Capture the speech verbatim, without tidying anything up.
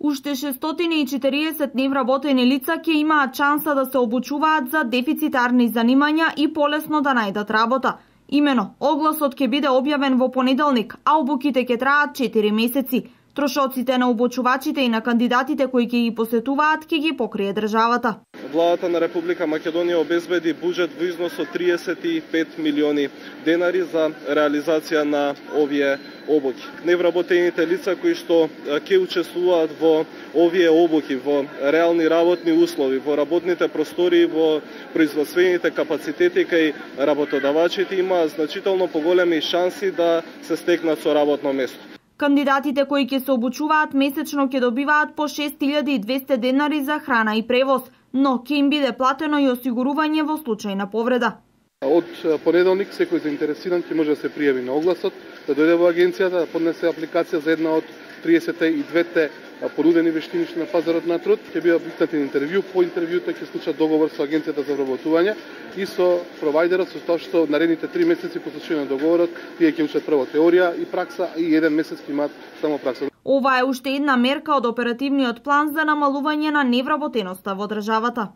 Уште шестстотини и четириесет невработени лица ќе имаат шанса да се обучуваат за дефицитарни занимања и полесно да најдат работа. Имено, огласот ќе биде објавен во понеделник, а обуките ќе траат четири месеци. Трошоците на обучувачите и на кандидатите кои ќе ги посетуваат ќе ги покрие државата. Владата на Република Македонија обезбеди буџет во износ од триесет и пет милиони денари за реализација на овие обуки. Невработените лица кои што ќе учествуваат во овие обуки, во реални работни услови, во работните простори, во производствените капацитети кај работодавачите имаат значително поголеми шанси да се стекнат со работно место. Кандидатите кои ќе се обучуваат месечно ќе добиваат по шест илјади и двесте денари за храна и превоз, но ќе им биде платено и осигурување во случај на повреда. Од понеделник секој заинтересиран ќе може да се пријави на огласот, да дојде во агенцијата, да поднесе апликација за една од триесет и две понудени вештини на пазарот на труд, ќе биде обикнатен интервју, по интервјуто ќе склучат договор со агенцијата за вработување и со провајдерот, со тоа што наредните три месеци по случај на договорот тие ќе учат прво теорија и пракса и еден месец ќе имаат само пракса. Ова е уште една мерка од оперативниот план за намалување на невработеноста во државата.